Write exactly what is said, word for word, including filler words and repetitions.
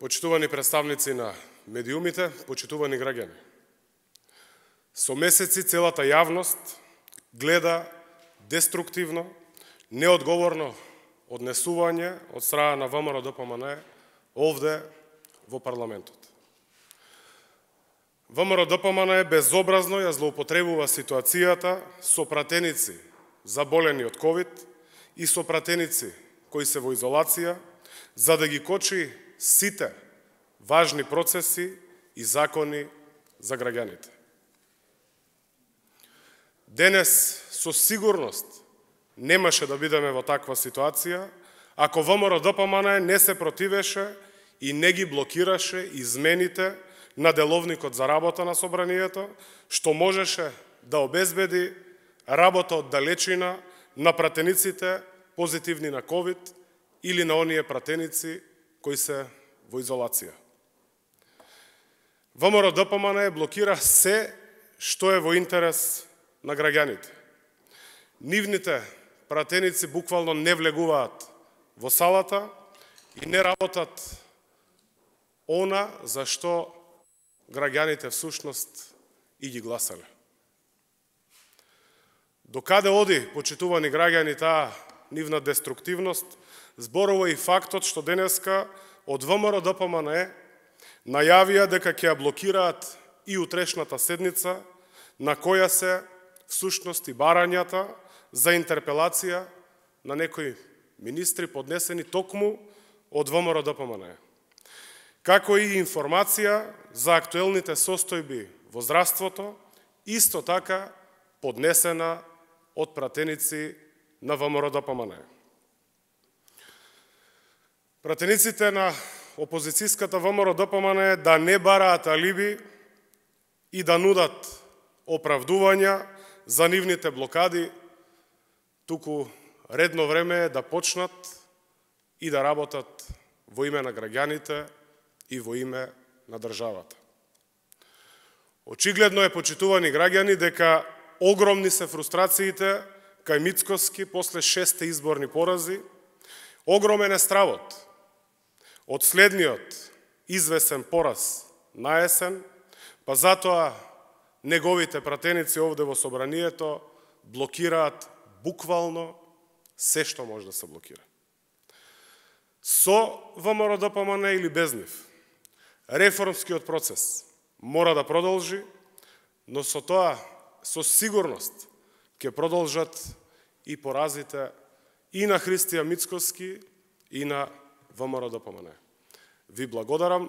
Почитувани представници на медиумите, почитувани граѓани. Со месеци целата јавност гледа деструктивно, неодговорно однесување од страна на ВМРО-ДПМН овде во парламентот. ВМРО-ДПМН безобразно ја злоупотребува ситуацијата со пратеници заболени од ковид и со пратеници кои се во изолација, за да ги кочи сите важни процеси и закони за граѓаните. Денес со сигурност немаше да бидеме во таква ситуација ако ВМРО-ДПМН не се противеше и не ги блокираше измените на деловникот за работа на собранието, што можеше да обезбеди работа од далечина на пратениците позитивни на ковид или на оние пратеници кои се во изолација. ВМРО-ДПМН блокира се што е во интерес на граѓаните. Нивните пратеници буквално не влегуваат во салата и не работат она за што граѓаните всушност и ги гласале. Докаде оди, почитувани граѓани, таа нивна деструктивност, зборува и фактот што денеска од ВМРО-ДПМН најавија дека ќе ја блокираат и утрешната седница, на која се всушност и барањата за интерпелација на некои министри поднесени токму од ВМРО-ДПМН. Како и информација за актуелните состојби во здравството, исто така поднесена од пратеници на ВМРО-ДПМН. Пратениците на опозицијската ВМРО-ДПМН да не бараат алиби и да нудат оправдувања за нивните блокади, туку редно време е да почнат и да работат во име на граѓаните и во име на државата. Очигледно е, почитувани граѓани, дека огромни се фрустрациите кај Мицкоски после шесте изборни порази, огромен е стравот од следниот извесен пораз на есен, па затоа неговите пратеници овде во собранието блокираат буквално се што може да се блокира. Со ВМРО-ДПМН или без нив, реформскиот процес мора да продолжи, но со тоа, со сигурност, ќе продолжат и поразите и на Христијан Мицкоски и на ВМРО-ДПМН. Ви благодарам.